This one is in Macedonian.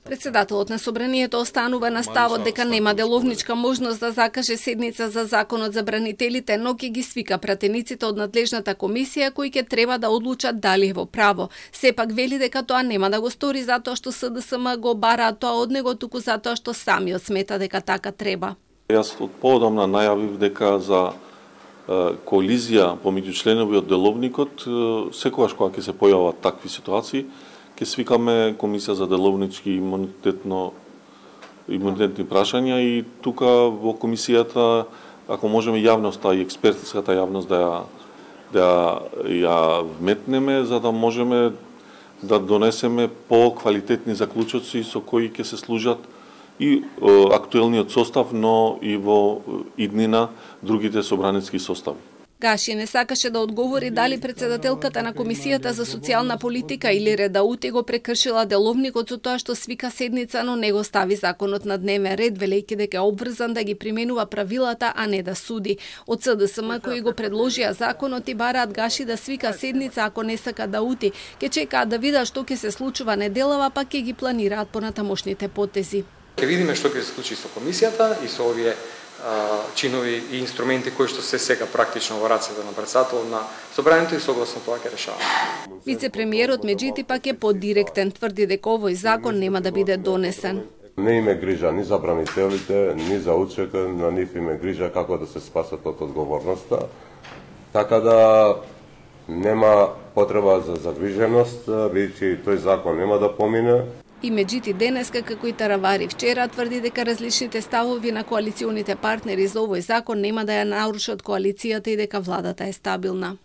Председателот на собранието останува на ставот дека нема деловничка можност да закаже седница за законот за бранителите, но ќе ги свика пратениците од надлежната комисија кои ќе треба да одлучат дали е во право. Сепак вели дека тоа нема да го стори затоа што СДСМ го бараат тоа од него, туку затоа што самиот смета дека така треба. Јас од поодамна најавив дека за коализија помеѓу членови од деловникот, секогаш кога ќе се појават такви ситуации, ќе свикаме комисија за деловнички имунитетни прашања и тука во комисијата, ако можеме јавноста и експертската јавност да ја вметнеме, за да можеме да донесеме по-квалитетни заклучоци со кои ќе се служат и актуелниот состав, но и во иднина другите собраницки состави. Гаши не сакаше да одговори дали председателката на Комисијата за социјална политика или Редаути го прекршила деловникот со тоа што свика седница, но не го стави законот на дневен ред, велејќи дека е обврзан да ги применува правилата, а не да суди. Од СДСМ кои го предложија законот и бараат Гаши да свика седница ако не сака Даути, ќе чекаат да видат што ќе се случува неделава, па ќе ги планираат понатамошните потези. Ќе видиме што ќе се случи со комисијата и со овие чинови и инструменти кои што се сега практично во рацете на председателот на собранието и согласно тоа ќе решаваме. Вице-премиерот меѓутоа пак е подиректен, тврди дека овој закон нема да биде донесен. Не име грижа ни за бранителите, ни за УЧК, на нив име грижа како да се спасат од одговорноста. Така да нема потреба за загриженост, бидејќи тој закон нема да помине. И Меджити денеска, како и Таравари вчера, тврди дека различните ставови на коалиционите партнери за овој закон нема да ја нарушат коалицијата и дека владата е стабилна.